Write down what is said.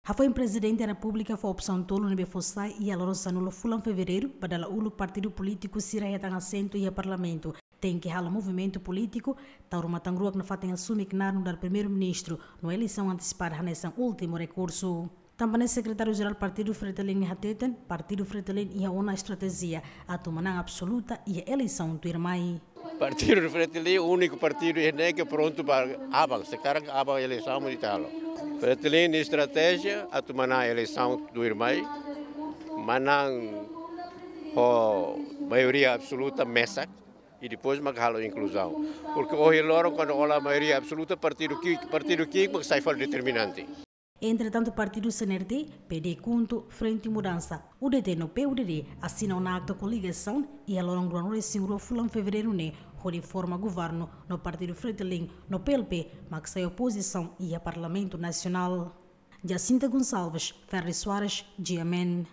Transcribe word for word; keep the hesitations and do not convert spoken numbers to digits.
Hafoin Prezidente Repúblika fó opsaun tolu ne'ebé fó sai iha loron sanulu fulan Fevereiru ba dala uluk partidu polítiku sira hetan asentu iha Parlamentu tenke halo movimentu polítiku, tau ruma tan ruak nafatin asume knaar nu'udar Primeiru-Ministru no eleisaun antesipada hanesan últimu rekursu. Tanba ne'e Sekretáriu Jerál Partidu Fretilin ne'e hateten, Partidu Fretilin iha ona estratéjia atu manán absoluta iha eleisaun tuirmai. Partidu Fretilin úniku partidu iha ne'e ke prontu ba aban, sekarang aban eleisaun mós ita halo. Fretilin estratéjia atu manán eleisaun tuirmai, manán ho maioria absoluta mesak, i depois mak halo inkluzaun. Porke ohin loron kuandu hola maioria absoluta partidu ki'ik, partidu ki'ik mak sai fali determinante. Entretantu, partidu C N R T, P D KHUNTO, Frente Mudansa, U D T no P U D D asina ona akta koligasaun iha loron ruanulu-resin-rua fulan Fevereiru ne'e hodi forma governu no Partidu Fretilin no P L P mak sai opozisaun iha Parlamentu Nasionál. Jacinta Gonçalves, Ferri Soares, G M N.